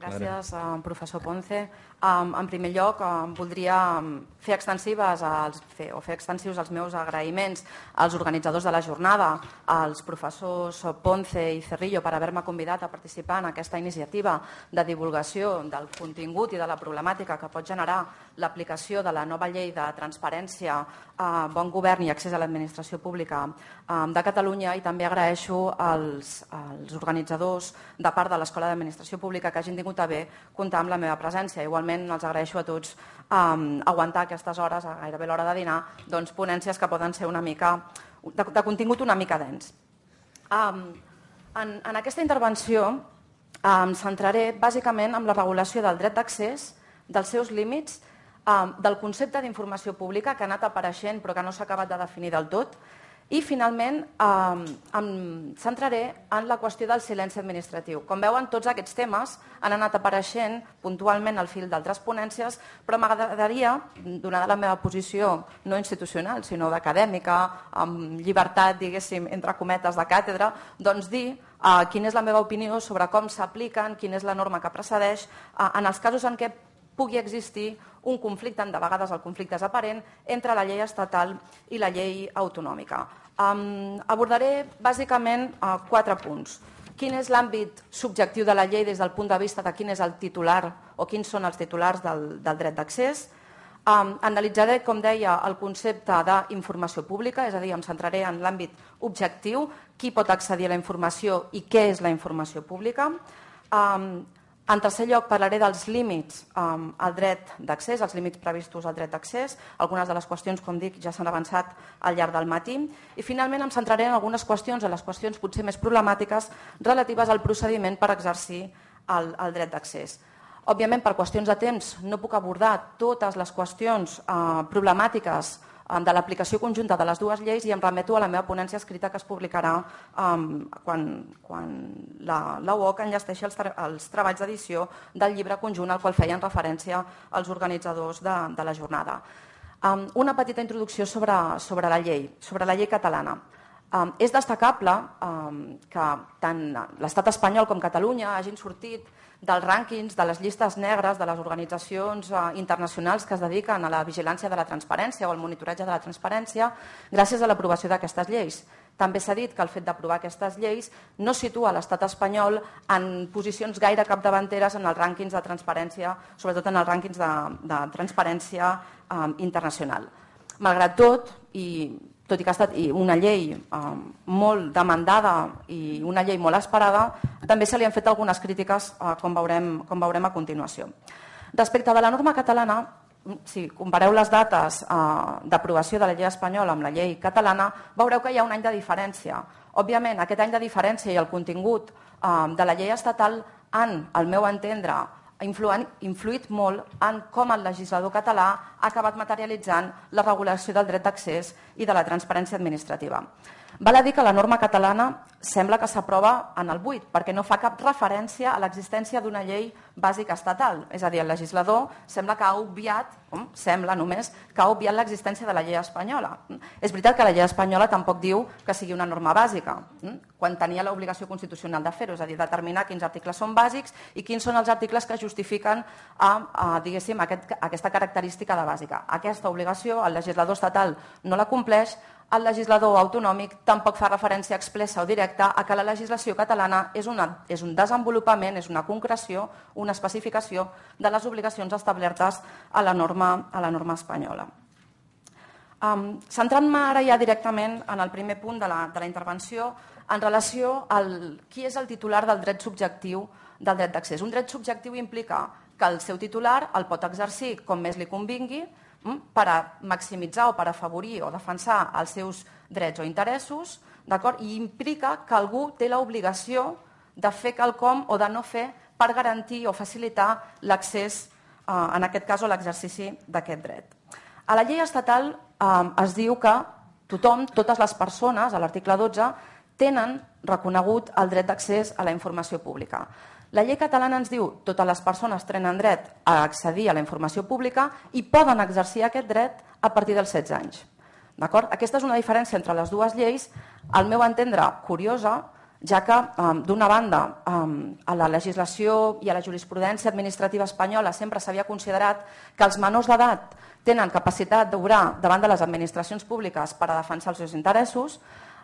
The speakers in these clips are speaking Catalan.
Gràcies, professor Ponce. En primer lloc, voldria fer extensius els meus agraïments als organitzadors de la jornada, als professors Ponce i Cerrillo, per haver-me convidat a participar en aquesta iniciativa de divulgació del contingut i de la problemàtica que pot generar l'aplicació de la nova llei de transparència, bon govern i accés a l'administració pública de Catalunya, i també agraeixo als organitzadors de part de l'Escola d'Administració Pública que hagin tingut a bé comptar amb la meva presència. Igualment els agraeixo a tots aguantar aquestes hores, a gairebé l'hora de dinar, ponències que poden ser una mica de contingut una mica dens. En aquesta intervenció em centraré bàsicament en la regulació del dret d'accés, dels seus límits, del concepte d'informació pública que ha anat apareixent però que no s'ha acabat de definir del tot, i finalment em centraré en la qüestió del silenci administratiu. Com veuen, tots aquests temes han anat apareixent puntualment al fil d'altres ponències, però m'agradaria, donada la meva posició no institucional, sinó d'acadèmica, amb llibertat, diguéssim, entre cometes, de càtedra, doncs dir quina és la meva opinió sobre com s'apliquen, quina és la norma que precedeix, en els casos en què pugui existir un conflicte, de vegades el conflicte és aparent, entre la llei estatal i la llei autonòmica. Abordaré bàsicament 4 punts. Quin és l'àmbit subjectiu de la llei des del punt de vista de quin és el titular o quins són els titulars del dret d'accés. Analitzaré, com deia, el concepte d'informació pública, és a dir, em centraré en l'àmbit objectiu, qui pot accedir a la informació i què és la informació pública. En tercer lloc, parlaré dels límits al dret d'accés, els límits previstos al dret d'accés. Algunes de les qüestions, com dic, ja s'han avançat al llarg del matí. I finalment em centraré en algunes qüestions, en les qüestions potser més problemàtiques relatives al procediment per exercir el dret d'accés. Òbviament, per qüestions de temps, no puc abordar totes les qüestions problemàtiques de l'aplicació conjunta de les dues lleis i em remeto a la meva ponència escrita que es publicarà quan la UOC enllesteixi els treballs d'edició del llibre conjunt al qual feien referència els organitzadors de la jornada. Una petita introducció sobre la llei catalana. És destacable que tant l'estat espanyol com Catalunya hagin sortit dels rànquings, de les llistes negres de les organitzacions internacionals que es dediquen a la vigilància de la transparència o al monitoratge de la transparència gràcies a l'aprovació d'aquestes lleis. També s'ha dit que el fet d'aprovar aquestes lleis no situa l'estat espanyol en posicions gaire capdavanteres en els rànquings de transparència, sobretot en els rànquings de transparència internacional. Malgrat tot i que ha estat una llei molt demandada i una llei molt esperada, també se li han fet algunes crítiques, com veurem a continuació. Respecte de la norma catalana, si compareu les dates d'aprovació de la llei espanyola amb la llei catalana, veureu que hi ha un any de diferència. Òbviament, aquest any de diferència i el contingut de la llei estatal han, al meu entendre, influït molt en com el legislador català ha acabat materialitzant la regulació del dret d'accés i de la transparència administrativa. Val a dir que la norma catalana sembla que s'aprova en el buit, perquè no fa cap referència a l'existència d'una llei bàsica estatal. És a dir, el legislador sembla que ha obviat, sembla només, que ha obviat l'existència de la llei espanyola. És veritat que la llei espanyola tampoc diu que sigui una norma bàsica, quan tenia l'obligació constitucional de fer-ho, és a dir, determinar quins articles són bàsics i quins són els articles que justifiquen diguéssim, aquesta característica de bàsica. Aquesta obligació el legislador estatal no la compleix, el legislador autonòmic tampoc fa referència expressa o directa a que la legislació catalana és un desenvolupament, és una concreció, una especificació de les obligacions establertes a la norma espanyola. Centrant-me ara ja directament en el primer punt de la intervenció en relació a qui és el titular del dret subjectiu del dret d'accés. Un dret subjectiu implica que el seu titular el pot exercir com més li convingui per a maximitzar o per afavorir o defensar els seus drets o interessos, i implica que algú té l'obligació de fer quelcom o de no fer per garantir o facilitar l'accés, en aquest cas, o l'exercici d'aquest dret. A la llei estatal es diu que tothom, totes les persones, a l'article 12, tenen reconegut el dret d'accés a la informació pública. La llei catalana ens diu que totes les persones tenen dret a accedir a la informació pública i poden exercir aquest dret a partir dels 16 anys. Aquesta és una diferència entre les dues lleis, al meu entendre curiosa, ja que, d'una banda, a la legislació i a la jurisprudència administrativa espanyola sempre s'havia considerat que els menors d'edat tenen capacitat d'obrar davant de les administracions públiques per a defensar els seus interessos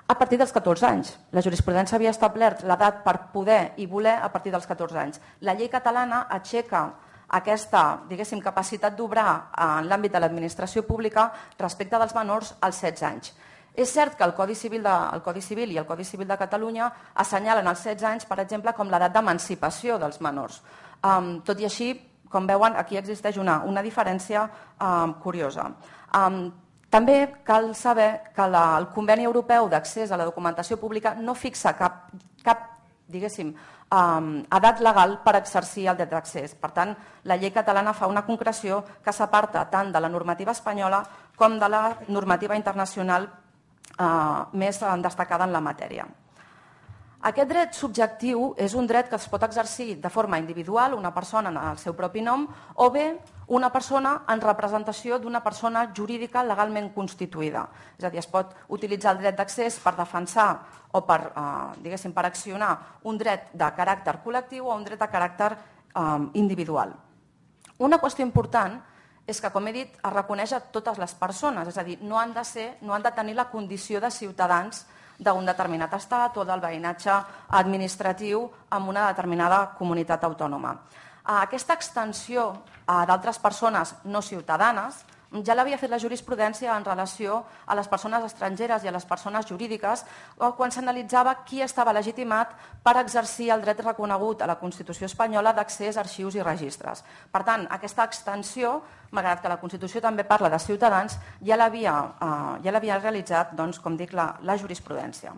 a partir dels 14 anys. La jurisprudència havia establert l'edat per poder i voler a partir dels 14 anys. La llei catalana aixeca aquesta, diguéssim, capacitat d'obrar en l'àmbit de l'administració pública respecte dels menors als 16 anys. És cert que el Codi Civil i el Codi Civil de Catalunya assenyalen els 16 anys, per exemple, com l'edat d'emancipació dels menors. Tot i així, com veuen, aquí existeix una diferència curiosa. També cal saber que el Conveni Europeu d'Accés a la Documentació Pública no fixa cap diguéssim, edat legal per exercir el dret d'accés. Per tant, la llei catalana fa una concreció que s'aparta tant de la normativa espanyola com de la normativa internacional més destacada en la matèria. Aquest dret subjectiu és un dret que es pot exercir de forma individual, una persona en el seu propi nom, o bé una persona en representació d'una persona jurídica legalment constituïda. És a dir, es pot utilitzar el dret d'accés per defensar o per accionar un dret de caràcter col·lectiu o un dret de caràcter individual. Una qüestió important és que, com he dit, es reconeix a totes les persones, és a dir, no han de tenir la condició de ciutadans d'un determinat estat o del veïnatge administratiu en una determinada comunitat autònoma. Aquesta extensió a d'altres persones no ciutadanes ja l'havia fet la jurisprudència en relació a les persones estrangeres i a les persones jurídiques quan s'analitzava qui estava legitimat per exercir el dret reconegut a la Constitució espanyola d'accés a arxius i registres. Per tant, aquesta extensió, malgrat que la Constitució també parla de ciutadans, ja l'havia realitzat, com dic, la jurisprudència.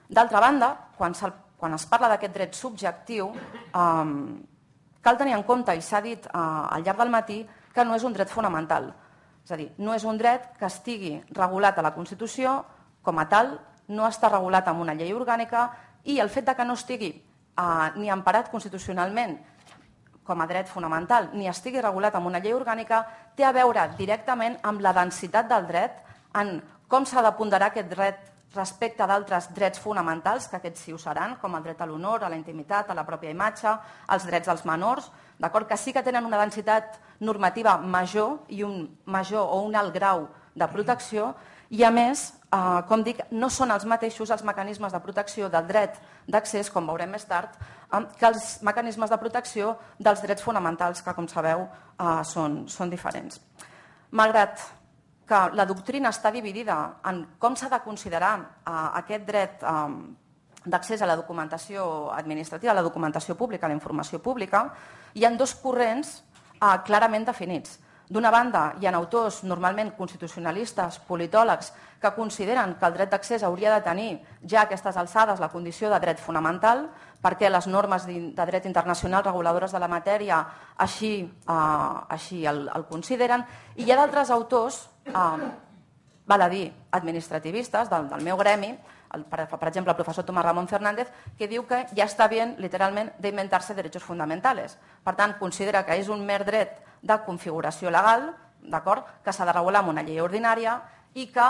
D'altra banda, quan es parla d'aquest dret subjectiu, cal tenir en compte, i s'ha dit al llarg del matí, que no és un dret fonamental. És a dir, no és un dret que estigui regulat a la Constitució com a tal, no està regulat amb una llei orgànica i el fet que no estigui ni emparat constitucionalment com a dret fonamental ni estigui regulat amb una llei orgànica té a veure directament amb la densitat del dret, en com s'ha de ponderar aquest dret respecte d'altres drets fonamentals, que aquests sí ho seran, com el dret a l'honor, a la intimitat, a la pròpia imatge, als drets dels menors, que sí que tenen una densitat normativa major i un major o un alt grau de protecció i, a més, com dic, no són els mateixos els mecanismes de protecció del dret d'accés, com veurem més tard, que els mecanismes de protecció dels drets fonamentals, que, com sabeu, són diferents. Malgrat que la doctrina està dividida en com s'ha de considerar aquest dret d'accés a la documentació administrativa, a la documentació pública, a la informació pública, hi ha dos corrents clarament definits. D'una banda, hi ha autors normalment constitucionalistes, politòlegs, que consideren que el dret d'accés hauria de tenir ja a aquestes alçades la condició de dret fonamental, perquè les normes de dret internacional reguladores de la matèria així el consideren, i hi ha d'altres autors, val a dir, administrativistes del meu gremi, per exemple, el professor Tomás Ramón Fernández, que diu que ja està bien, literalment, d'inventar-se derechos fundamentales. Per tant, considera que és un mer dret de configuració legal, que s'ha de regular amb una llei ordinària i que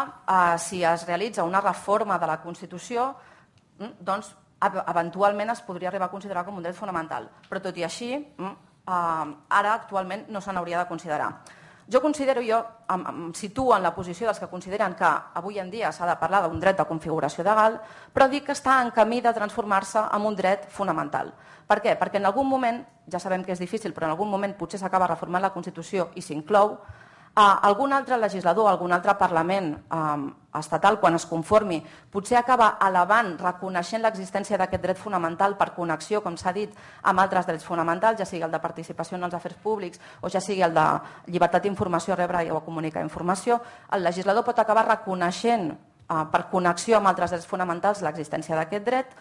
si es realitza una reforma de la Constitució, doncs eventualment es podria arribar a considerar com un dret fonamental. Però tot i així, ara actualment no se n'hauria de considerar. Jo em situo en la posició dels que consideren que avui en dia s'ha de parlar d'un dret de configuració legal, però dic que està en camí de transformar-se en un dret fonamental. Per què? Perquè en algun moment, ja sabem que és difícil, però en algun moment potser s'acaba reformant la Constitució i s'inclou, algun altre legislador, algun altre Parlament estatal, quan es conformi, potser acaba elevant, reconeixent l'existència d'aquest dret fonamental per connexió, com s'ha dit, amb altres drets fonamentals, ja sigui el de participació en els afers públics o ja sigui el de llibertat d'informació, rebre o comunicar informació. El legislador pot acabar reconeixent per connexió amb altres drets fonamentals l'existència d'aquest dret,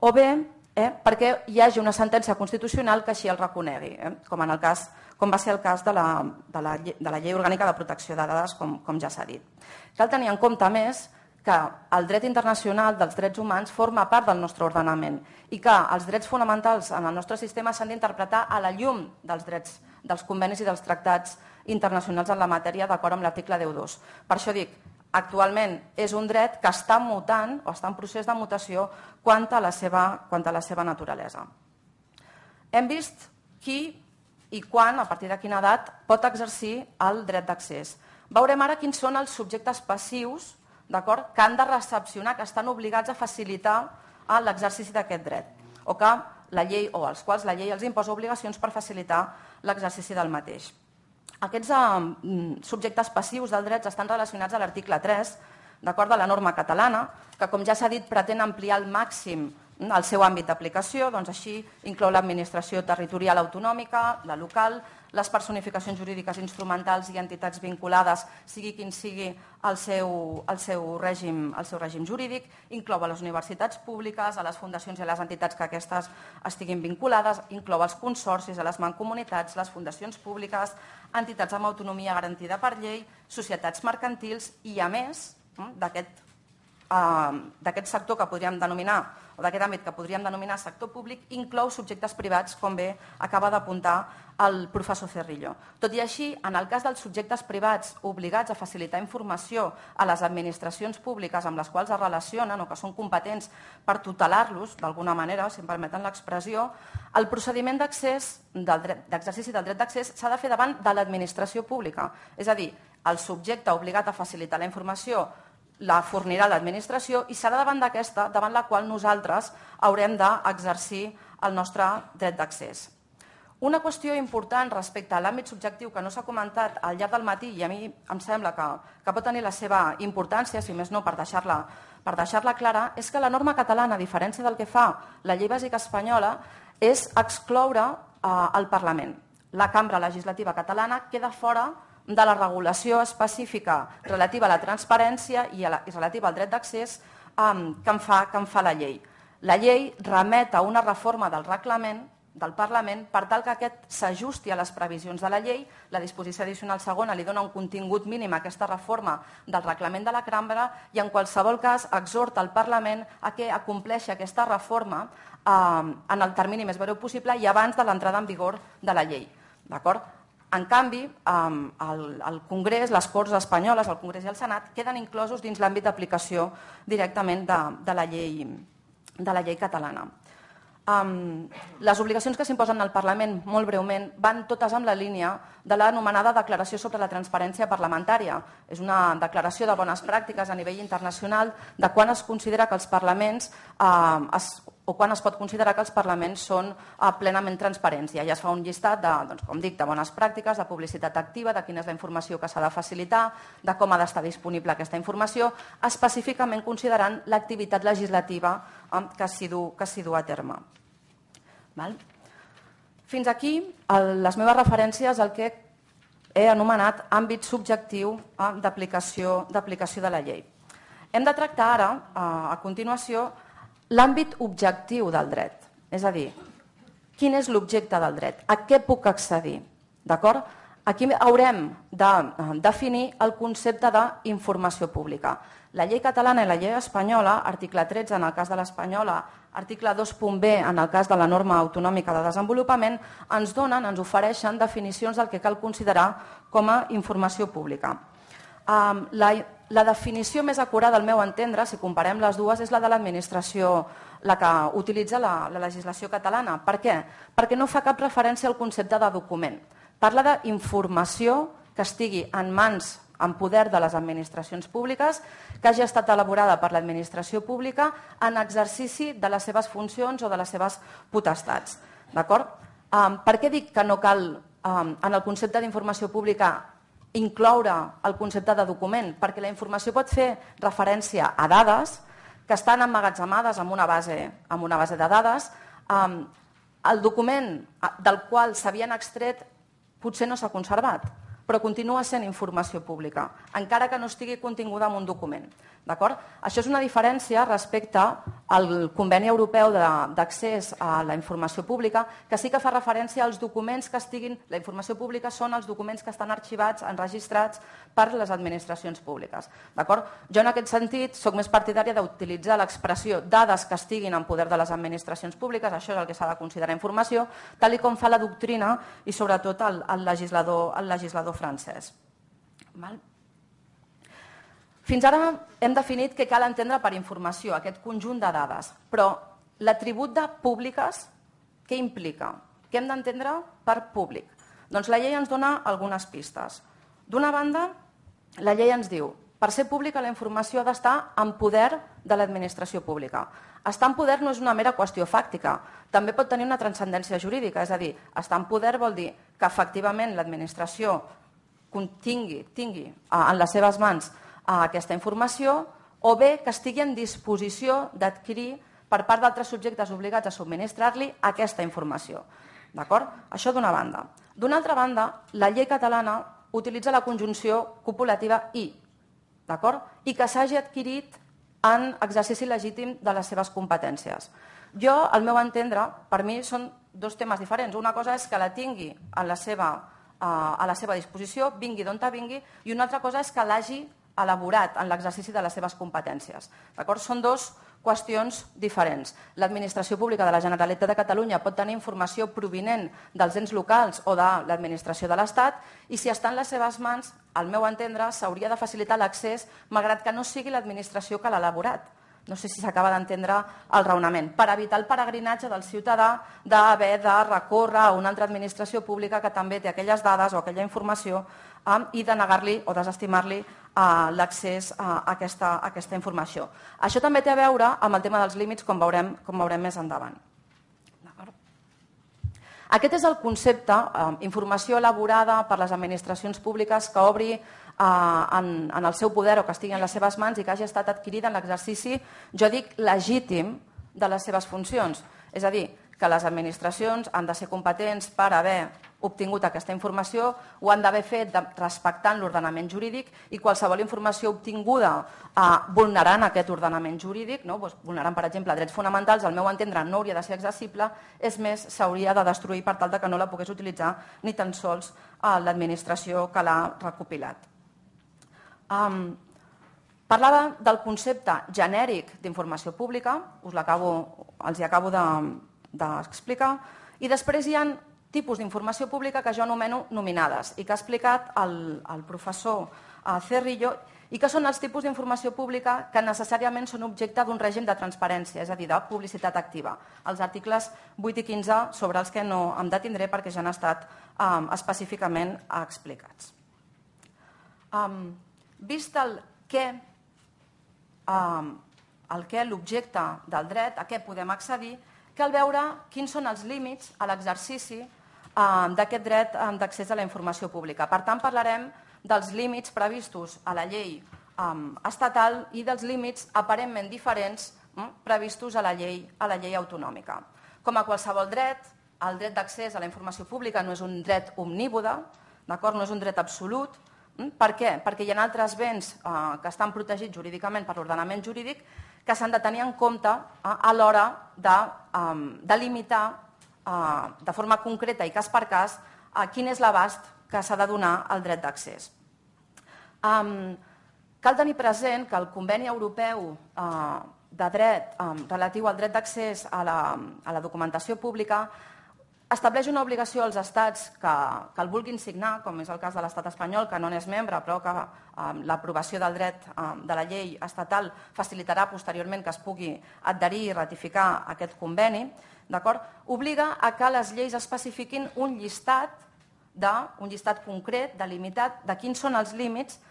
o bé perquè hi hagi una sentència constitucional que així el reconegui, com va ser el cas de la Llei Orgànica de Protecció de Dades, com ja s'ha dit. Cal tenir en compte, a més, que el dret internacional dels drets humans forma part del nostre ordenament i que els drets fonamentals en el nostre sistema s'han d'interpretar a la llum dels drets, dels convenis i dels tractats internacionals en la matèria, d'acord amb l'article 10.2. Per això dic, actualment és un dret que està mutant o està en procés de mutació quant a la seva naturalesa. Hem vist qui i quan, a partir de quina edat, pot exercir el dret d'accés. Veurem ara quins són els subjectes passius que han de recepcionar, que estan obligats a facilitar l'exercici d'aquest dret, o que la llei o als quals la llei els imposa obligacions per facilitar l'exercici del mateix. Aquests subjectes passius del dret estan relacionats a l'article 3 de la norma catalana, que, com ja s'ha dit, pretén ampliar al màxim el seu àmbit d'aplicació, doncs així inclou l'administració territorial autonòmica, la local, les personificacions jurídiques instrumentals i entitats vinculades, sigui quin sigui el seu règim jurídic, inclou a les universitats públiques, a les fundacions i a les entitats que aquestes estiguin vinculades, inclou els consorcis, a les mancomunitats, les fundacions públiques, entitats amb autonomia garantida per llei, societats mercantils i, a més, d'aquest sector que podríem denominar, o d'aquest àmbit que podríem denominar sector públic, inclou subjectes privats, com bé acaba d'apuntar el professor Cerrillo. Tot i així, en el cas dels subjectes privats obligats a facilitar informació a les administracions públiques amb les quals es relacionen o que són competents per tutelar-los, d'alguna manera, si em permeten l'expressió, el procediment d'exercici del dret d'accés s'ha de fer davant de l'administració pública. És a dir, el subjecte obligat a facilitar la informació la fornirà l'administració i serà davant d'aquesta, davant la qual nosaltres haurem d'exercir el nostre dret d'accés. Una qüestió important respecte a l'àmbit subjectiu que no s'ha comentat al llarg del matí i a mi em sembla que pot tenir la seva importància, si més no per deixar-la clara, és que la norma catalana, a diferència del que fa la llei bàsica espanyola, és excloure el Parlament. La cambra legislativa catalana queda fora de la regulació específica relativa a la transparència i relativa al dret d'accés que en fa la llei. La llei remet a una reforma del reglament del Parlament per tal que aquest s'ajusti a les previsions de la llei. La disposició addicional segona li dona un contingut mínim a aquesta reforma del reglament de la cambra i en qualsevol cas exhorta el Parlament a que acompleixi aquesta reforma en el termini més breu possible i abans de l'entrada en vigor de la llei. D'acord? En canvi, el Congrés, les Corts espanyoles, el Congrés i el Senat, queden inclosos dins l'àmbit d'aplicació directament de la llei catalana. Les obligacions que s'imposen al Parlament, molt breument, van totes en la línia de l'anomenada Declaració sobre la Transparència Parlamentària. És una declaració de bones pràctiques a nivell internacional de quan es considera que els parlaments o quan es pot considerar que els parlaments són plenament transparents. Ja es fa un llistat de bones pràctiques, de publicitat activa, de quina és la informació que s'ha de facilitar, de com ha d'estar disponible aquesta informació, específicament considerant l'activitat legislativa que s'hi du a terme. Fins aquí les meves referències al que he anomenat àmbit subjectiu d'aplicació de la llei. Hem de tractar ara, a continuació, l'àmbit objectiu del dret, és a dir, quin és l'objecte del dret, a què puc accedir. D'acord? Aquí haurem de definir el concepte d'informació pública. La llei catalana i la llei espanyola, article 13 en el cas de l'espanyola, article 2.b en el cas de la norma autonòmica de desenvolupament, ens ofereixen definicions del que cal considerar com a informació pública. La definició més acurada, al meu entendre, si comparem les dues, és la de l'administració, la que utilitza la legislació catalana. Per què? Perquè no fa cap referència al concepte de document. Parla d'informació que estigui en mans, en poder de les administracions públiques, que hagi estat elaborada per l'administració pública en exercici de les seves funcions o de les seves potestats. D'acord? Per què dic que no cal, en el concepte d'informació pública, incloure el concepte de document? Perquè la informació pot fer referència a dades que estan emmagatzemades en una base de dades. El document del qual s'havien extret potser no s'ha conservat, però continua sent informació pública, encara que no estigui continguda en un document. Això és una diferència respecte al Conveni Europeu d'Accés a la Informació Pública, que sí que fa referència als documents que estiguin... La informació pública són els documents que estan arxivats, enregistrats per les administracions públiques. Jo en aquest sentit soc més partidària d'utilitzar l'expressió dades que estiguin en poder de les administracions públiques, això és el que s'ha de considerar informació, tal com fa la doctrina i sobretot el legislador francès. Fins ara hem definit què cal entendre per informació, aquest conjunt de dades, però l'atribut de públiques, què implica? Què hem d'entendre per públic? Doncs la llei ens dona algunes pistes. D'una banda, la llei ens diu per ser pública la informació ha d'estar en poder de l'administració pública. Estar en poder no és una mera qüestió fàctica, també pot tenir una transcendència jurídica, és a dir, estar en poder vol dir que efectivament l'administració tingui en les seves mans aquesta informació o bé que estigui en disposició d'adquirir per part d'altres subjectes obligats a subministrar-li aquesta informació. D'acord? Això d'una banda. D'una altra banda, la llei catalana utilitza la conjunció copulativa i, d'acord? I que s'hagi adquirit en exercici legítim de les seves competències. Jo, al meu entendre, per mi són dos temes diferents. Una cosa és que la tingui a la seva disposició, vingui d'on vingui, i una altra cosa és que l'hagi elaborat en l'exercici de les seves competències. Són dues qüestions diferents. L'administració pública de la Generalitat de Catalunya pot tenir informació provinent dels ens locals o de l'administració de l'Estat i si està en les seves mans, al meu entendre, s'hauria de facilitar l'accés malgrat que no sigui l'administració que l'ha elaborat. No sé si s'acaba d'entendre el raonament. Per evitar el peregrinatge del ciutadà d'haver de recórrer a una altra administració pública que també té aquelles dades o aquella informació i de negar-li o desestimar-li l'accés a aquesta informació. Això també té a veure amb el tema dels límits, com veurem més endavant. Aquest és el concepte, informació elaborada per les administracions públiques que obri en el seu poder o que estigui en les seves mans i que hagi estat adquirida en l'exercici, jo dic, legítim de les seves funcions. És a dir, que les administracions han de ser competents per haver obtingut aquesta informació, ho han d'haver fet respectant l'ordenament jurídic i qualsevol informació obtinguda vulnerant aquest ordenament jurídic, vulnerant, per exemple, drets fonamentals, al meu entendre no hauria de ser accessible, és més, s'hauria de destruir per tal que no la pogués utilitzar ni tan sols l'administració que l'ha recopilat. Parlava del concepte genèric d'informació pública, els hi acabo d'explicar, i després hi ha tipus d'informació pública que jo anomeno nominades i que ha explicat el professor Cerrillo i que són els tipus d'informació pública que necessàriament són objecte d'un règim de transparència, és a dir, de publicitat activa. Els articles 8 i 15 sobre els que no em detindré perquè ja han estat específicament explicats. Vist el què, l'objecte del dret, a què podem accedir, cal veure quins són els límits a l'exercici d'aquest dret d'accés a la informació pública. Per tant, parlarem dels límits previstos a la llei estatal i dels límits aparentment diferents previstos a la llei autonòmica. Com a qualsevol dret, el dret d'accés a la informació pública no és un dret omnímode, no és un dret absolut. Per què? Perquè hi ha altres béns que estan protegits jurídicament per l'ordenament jurídic que s'han de tenir en compte a l'hora de limitar de forma concreta i cas per cas quin és l'abast que s'ha de donar al dret d'accés. Cal tenir present que el Conveni Europeu de Dret relatiu al dret d'accés a la documentació pública estableix una obligació als estats que el vulguin signar, com és el cas de l'estat espanyol, que no n'és membre, però que l'aprovació del dret de la llei estatal facilitarà posteriorment que es pugui adherir i ratificar aquest conveni, obliga a que les lleis especifiquin un llistat concret, delimitat, de quins són els límits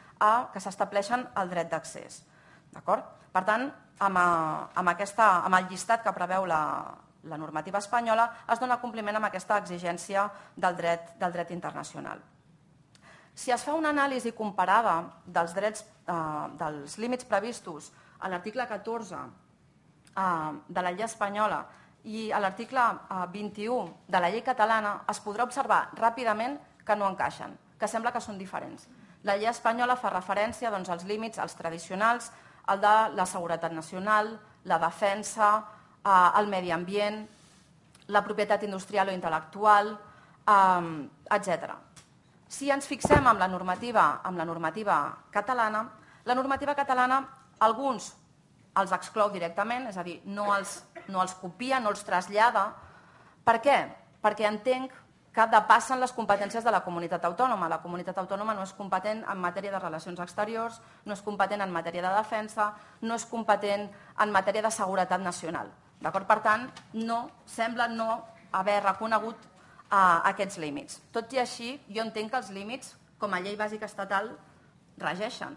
que s'estableixen al dret d'accés. Per tant, amb el llistat que preveu la normativa espanyola es dona compliment amb aquesta exigència del dret internacional. Si es fa una anàlisi comparada dels límits previstos a l'article 14 de la llei espanyola i a l'article 21 de la llei catalana, es podrà observar ràpidament que no encaixen, que sembla que són diferents. La llei espanyola fa referència als límits, als tradicionals, el de la seguretat nacional, la defensa, el medi ambient, la propietat industrial o intel·lectual, etc. Si ens fixem en la normativa catalana, alguns els exclou directament, és a dir, no els copia, no els trasllada. Per què? Perquè entenc que depassen les competències de la comunitat autònoma. La comunitat autònoma no és competent en matèria de relacions exteriors, no és competent en matèria de defensa, no és competent en matèria de seguretat nacional. Per tant, sembla no haver reconegut aquests límits. Tot i així, jo entenc que els límits, com a llei bàsica estatal, regeixen.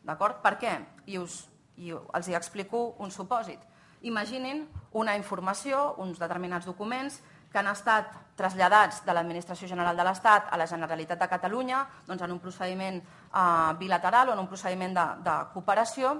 Per què? I els explico un supòsit. Imaginin una informació, uns determinats documents que han estat traslladats de l'Administració General de l'Estat a la Generalitat de Catalunya en un procediment bilateral o en un procediment de cooperació,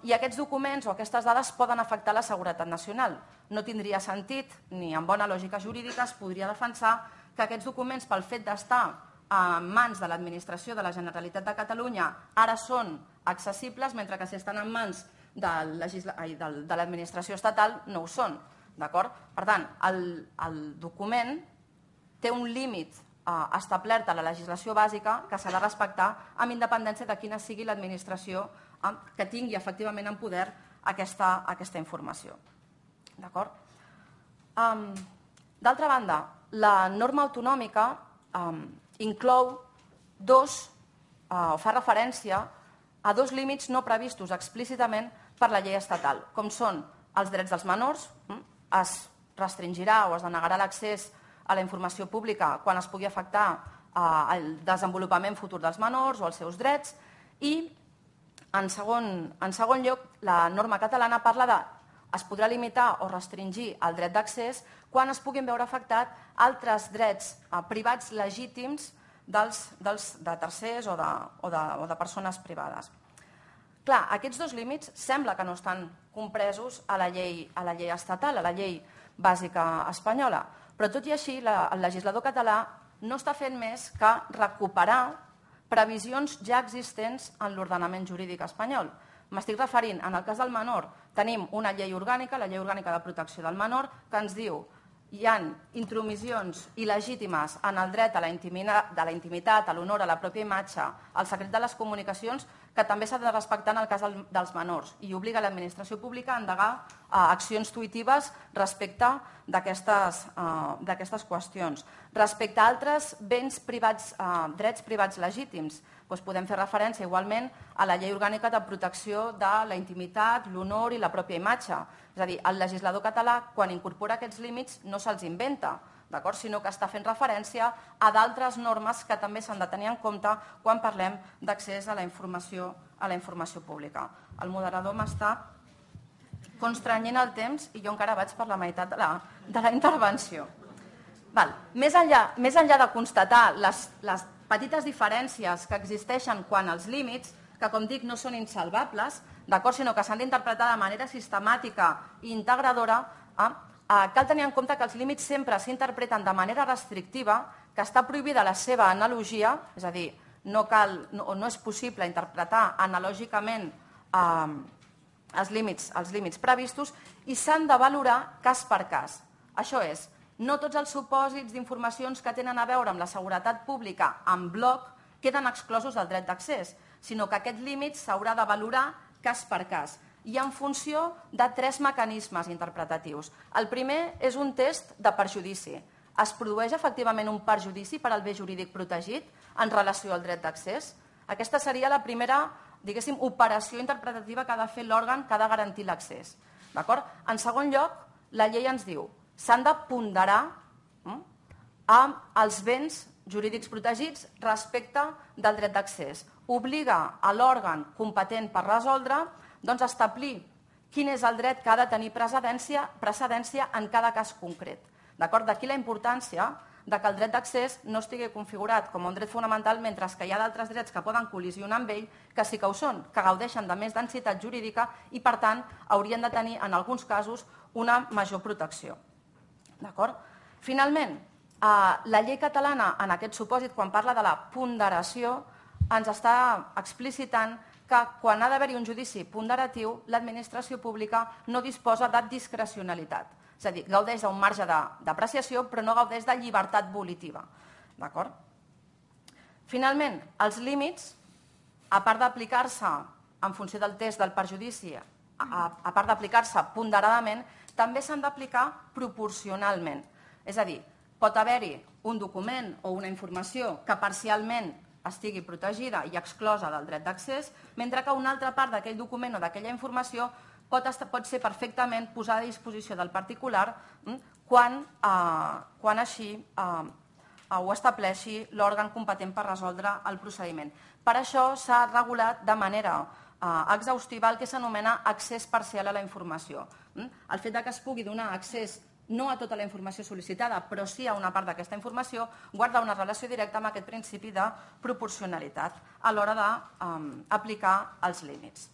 i aquests documents o aquestes dades poden afectar la seguretat nacional. No tindria sentit, ni en bona lògica jurídica es podria defensar que aquests documents, pel fet d'estar en mans de l'Administració de la Generalitat de Catalunya, ara són accessibles, mentre que si estan en mans de l'Administració estatal no ho són. Per tant, el document té un límit establert a la legislació bàsica que s'ha de respectar amb independència de quina sigui l'administració que tingui efectivament en poder aquesta informació. D'altra banda, la norma autonòmica inclou fa referència a dos límits no previstos explícitament per la llei estatal, com són els drets dels menors, es restringirà o es denegarà l'accés a la informació pública quan es pugui afectar el desenvolupament futur dels menors o els seus drets, i en segon lloc la norma catalana parla de es podrà limitar o restringir el dret d'accés quan es puguin veure afectats altres drets privats legítims de tercers o de persones privades. Clar, aquests dos límits sembla que no estan compresos a la llei estatal, a la llei bàsica espanyola, però tot i així el legislador català no està fent més que recuperar previsions ja existents en l'ordenament jurídic espanyol. M'estic referint, en el cas del menor, tenim una llei orgànica, la Llei Orgànica de Protecció del Menor, que ens diu hi ha intromissions il·legítimes en el dret a la intimitat, a l'honor, a la pròpia imatge, al secret de les comunicacions, que també s'ha de respectar en el cas dels menors, i obliga l'administració pública a endegar accions tuitives respecte d'aquestes qüestions. Respecte a altres béns privats, drets privats legítims, podem fer referència igualment a la Llei Orgànica de Protecció de la Intimitat, l'Honor i la pròpia imatge. És a dir, el legislador català, quan incorpora aquests límits, no se'ls inventa, sinó que està fent referència a d'altres normes que també s'han de tenir en compte quan parlem d'accés a la informació pública. El moderador m'està constrenyent el temps i jo encara vaig per la meitat de la intervenció. Més enllà de constatar les petites diferències que existeixen quan els límits, que com dic no són insalvables, sinó que s'han d'interpretar de manera sistemàtica i integradora, cal tenir en compte que els límits sempre s'interpreten de manera restrictiva, que està prohibida la seva analogia, és a dir, no és possible interpretar analògicament els límits previstos, i s'han de valorar cas per cas. Això és, no tots els supòsits d'informacions que tenen a veure amb la seguretat pública en bloc queden exclosos del dret d'accés, sinó que aquest límit s'haurà de valorar cas per cas i en funció de 3 mecanismes interpretatius. El primer és un test de perjudici. Es produeix efectivament un perjudici per al bé jurídic protegit en relació al dret d'accés? Aquesta seria la primera, diguéssim, operació interpretativa que ha de fer l'òrgan que ha de garantir l'accés. En segon lloc, la llei ens diu s'han de ponderar els béns jurídics protegits respecte del dret d'accés. Obliga a l'òrgan competent per resoldre a establir quin és el dret que ha de tenir precedència en cada cas concret. D'aquí la importància que el dret d'accés no estigui configurat com un dret fonamental, mentre que hi ha d'altres drets que poden col·lisionar amb ell, que sí que ho són, que gaudeixen de més densitat jurídica i, per tant, haurien de tenir, en alguns casos, una major protecció. Finalment, la llei catalana, en aquest supòsit, quan parla de la ponderació, ens està explicitant que quan ha d'haver-hi un judici ponderatiu, l'administració pública no disposa de discrecionalitat. És a dir, gaudeix d'un marge d'apreciació, però no gaudeix de llibertat volitiva. Finalment, els límits, a part d'aplicar-se en funció del test del perjudici, a part d'aplicar-se ponderadament, també s'han d'aplicar proporcionalment. És a dir, pot haver-hi un document o una informació que parcialment estigui protegida i exclosa del dret d'accés, mentre que una altra part d'aquell document o d'aquella informació pot ser perfectament posada a disposició del particular quan així ho estableixi l'òrgan competent per resoldre el procediment. Per això s'ha regulat de manera exhaustiva el que s'anomena accés parcial a la informació. El fet que es pugui donar accés no a tota la informació sol·licitada, però sí a una part d'aquesta informació, guarda una relació directa amb aquest principi de proporcionalitat a l'hora d'aplicar els límits.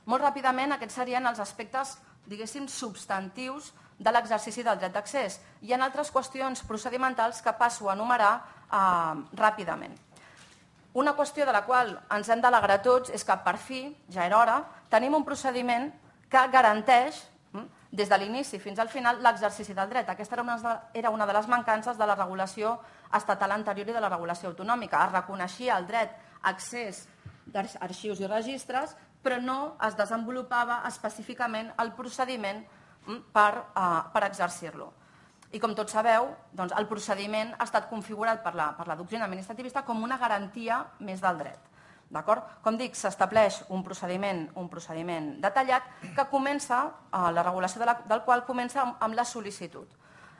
Molt ràpidament, aquests serien els aspectes, diguéssim, substantius de l'exercici del dret d'accés. Hi ha altres qüestions procedimentals que passo a enumerar ràpidament. Una qüestió de la qual ens hem d'alegrar tots és que, per fi, ja era hora, tenim un procediment que garanteix, des de l'inici fins al final, l'exercici del dret. Aquesta era una de les mancances de la regulació estatal anterior i de la regulació autonòmica. Es reconeixia el dret a accés d'arxius i registres, però no es desenvolupava específicament el procediment per exercir-lo. I com tots sabeu, el procediment ha estat configurat per la doctrina administrativista com una garantia més del dret. Com dic, s'estableix un procediment detallat que comença, la regulació del qual comença amb la sol·licitud.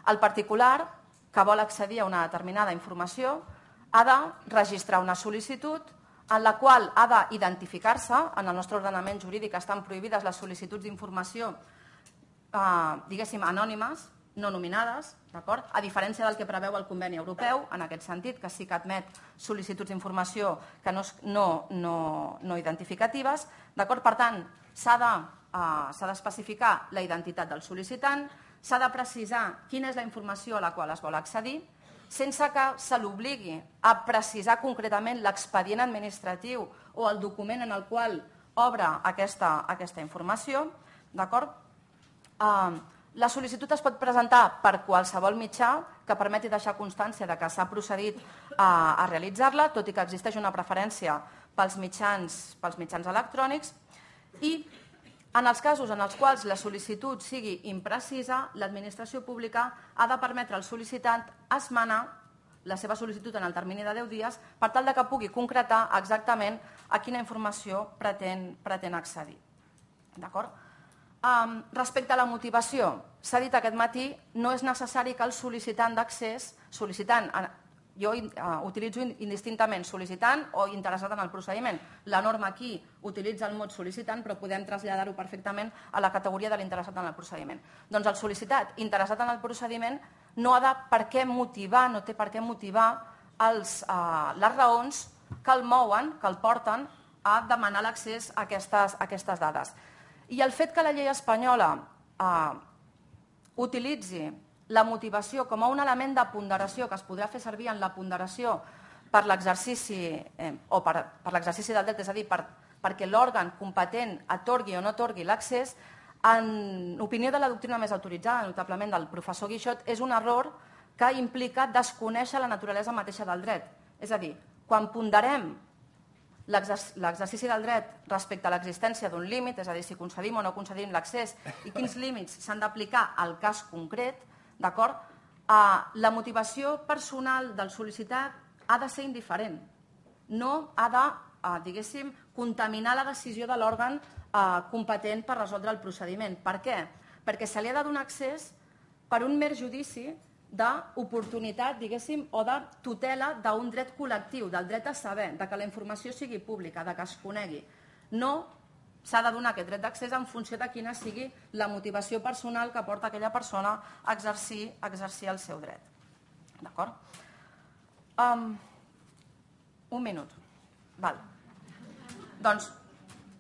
El particular que vol accedir a una determinada informació ha de registrar una sol·licitud en la qual ha d'identificar-se. En el nostre ordenament jurídic estan prohibides les sol·licituds d'informació, diguéssim, anònimes, no nominades, a diferència del que preveu el conveni europeu, en aquest sentit, que sí que admet sol·licituds d'informació que no identificatives. Per tant, s'ha d'especificar la identitat del sol·licitant, s'ha de precisar quina és la informació a la qual es vol accedir, sense que se l'obligui a precisar concretament l'expedient administratiu o el document en el qual obre aquesta informació. La sol·licitud es pot presentar per qualsevol mitjà que permeti deixar constància que s'ha procedit a realitzar-la, tot i que existeix una preferència pels mitjans electrònics, i en els casos en els quals la sol·licitud sigui imprecisa, l'administració pública ha de permetre al sol·licitant esmenar la seva sol·licitud en el termini de 10 dies per tal que pugui concretar exactament a quina informació pretén accedir. Respecte a la motivació, s'ha dit aquest matí, no és necessari que el sol·licitant d'accés, jo utilitzo indistintament sol·licitant o interessat en el procediment. La norma aquí utilitza el mot sol·licitant, però podem traslladar-ho perfectament a la categoria de l'interessat en el procediment. Doncs el sol·licitat interessat en el procediment no té per què motivar les raons que el mouen, que el porten a demanar l'accés a aquestes dades. I el fet que la llei espanyola utilitzi la motivació com a un element de ponderació que es podrà fer servir en la ponderació per l'exercici del dret, és a dir, perquè l'òrgan competent atorgui o no atorgui l'accés, en opinió de la doctrina més autoritzada, notablement del professor Guixot, és un error que implica desconèixer la naturalesa mateixa del dret. És a dir, quan ponderem l'exercici del dret respecte a l'existència d'un límit, és a dir, si concedim o no concedim l'accés i quins límits s'han d'aplicar al cas concret, la motivació personal del sol·licitat ha de ser indiferent. No ha de, diguéssim, contaminar la decisió de l'òrgan competent per resoldre el procediment. Per què? Perquè se li ha de donar accés per un mer judici d'oportunitat, diguéssim, o de tutela d'un dret col·lectiu, del dret a saber, que la informació sigui pública, que es conegui. No s'ha de donar aquest dret d'accés en funció de quina sigui la motivació personal que porta aquella persona a exercir el seu dret. D'acord? Un minut. Doncs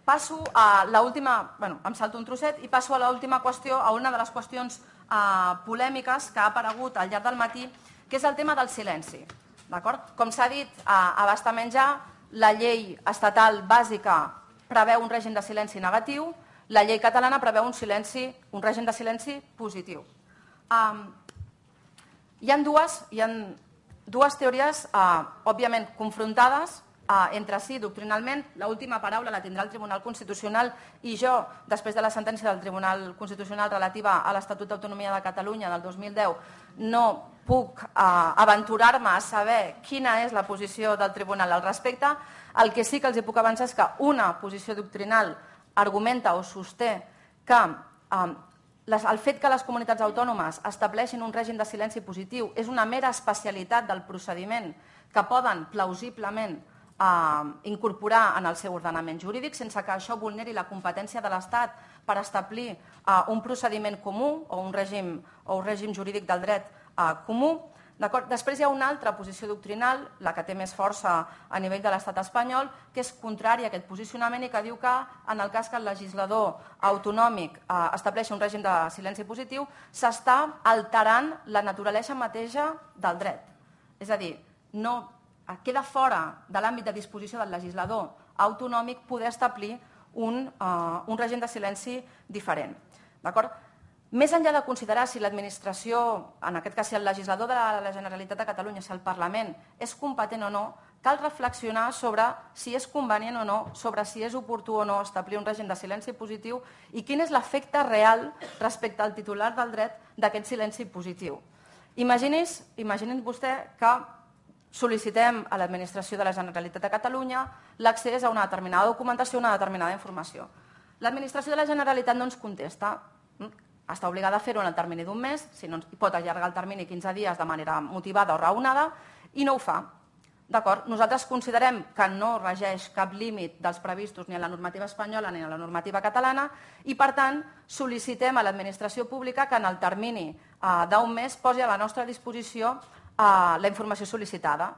passo a l'última, em salto un trosset i passo a l'última qüestió, a una de les qüestions polèmiques que ha aparegut al llarg del matí, que és el tema del silenci. Com s'ha dit a bastament ja, la llei estatal bàsica preveu un règim de silenci negatiu, la llei catalana preveu un règim de silenci positiu. Hi ha dues teories, òbviament confrontades, entre si doctrinalment. L'última paraula la tindrà el Tribunal Constitucional i jo, després de la sentència del Tribunal Constitucional relativa a l'Estatut d'Autonomia de Catalunya del 2010, no puc aventurar-me a saber quina és la posició del Tribunal al respecte. El que sí que els puc avançar és que una posició doctrinal argumenta o sosté que el fet que les comunitats autònomes estableixin un règim de silenci positiu és una mera especialitat del procediment que poden plausiblement incorporar en el seu ordenament jurídic sense que això vulneri la competència de l'Estat per establir un procediment comú o un règim jurídic del dret comú. Després hi ha una altra posició doctrinal, la que té més força a nivell de l'Estat espanyol, que és contrària a aquest posicionament i que diu que en el cas que el legislador autonòmic estableixi un règim de silenci positiu s'està alterant la naturalesa mateixa del dret. És a dir, queda fora de l'àmbit de disposició del legislador autonòmic poder establir un règim de silenci diferent. D'acord? Més enllà de considerar si l'administració, en aquest cas si el legislador de la Generalitat de Catalunya, si el Parlament és competent o no, cal reflexionar sobre si és convenient o no, sobre si és oportú o no establir un règim de silenci positiu i quin és l'efecte real respecte al titular del dret d'aquest silenci positiu. Imaginin vostè que sol·licitem a l'administració de la Generalitat de Catalunya l'accés a una determinada documentació, una determinada informació. L'administració de la Generalitat no ens contesta. Està obligada a fer-ho en el termini d'un mes, si no pot allargar el termini 15 dies de manera motivada o raonada, i no ho fa. Nosaltres considerem que no regeix cap límit dels previstos ni a la normativa espanyola ni a la normativa catalana i, per tant, sol·licitem a l'administració pública que en el termini d'un mes posi a la nostra disposició la informació sol·licitada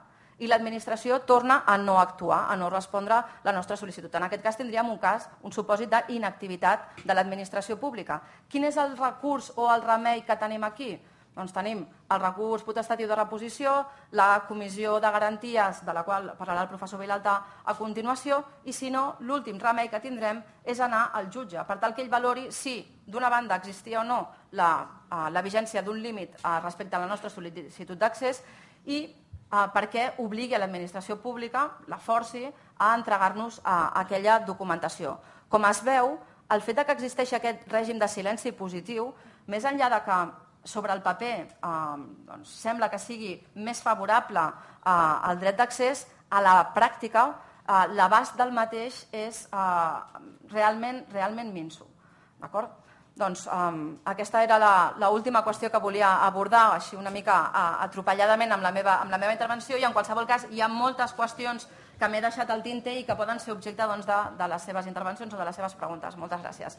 i l'administració torna a no actuar, a no respondre la nostra sol·licitud. En aquest cas tindríem un supòsit d'inactivitat de l'administració pública. Quin és el recurs o el remei que tenim aquí? Doncs tenim el recurs potestatiu de reposició, la comissió de garanties, de la qual parlarà el professor Vilalta a continuació, i si no, l'últim remei que tindrem és anar al jutge, per tal que ell valori si, d'una banda, existia o no la vigència d'un límit respecte a la nostra sol·licitud d'accés i perquè obligui a l'administració pública, la forci, a entregar-nos aquella documentació. Com es veu, el fet que existeixi aquest règim de silenci positiu, més enllà de que sobre el paper sembla que sigui més favorable al dret d'accés, a la pràctica l'abast del mateix és realment minso. D'acord? Doncs aquesta era l'última qüestió que volia abordar així una mica atropelladament amb la meva intervenció i en qualsevol cas hi ha moltes qüestions que m'he deixat al tinter i que poden ser objecte de les seves intervencions o de les seves preguntes. Moltes gràcies.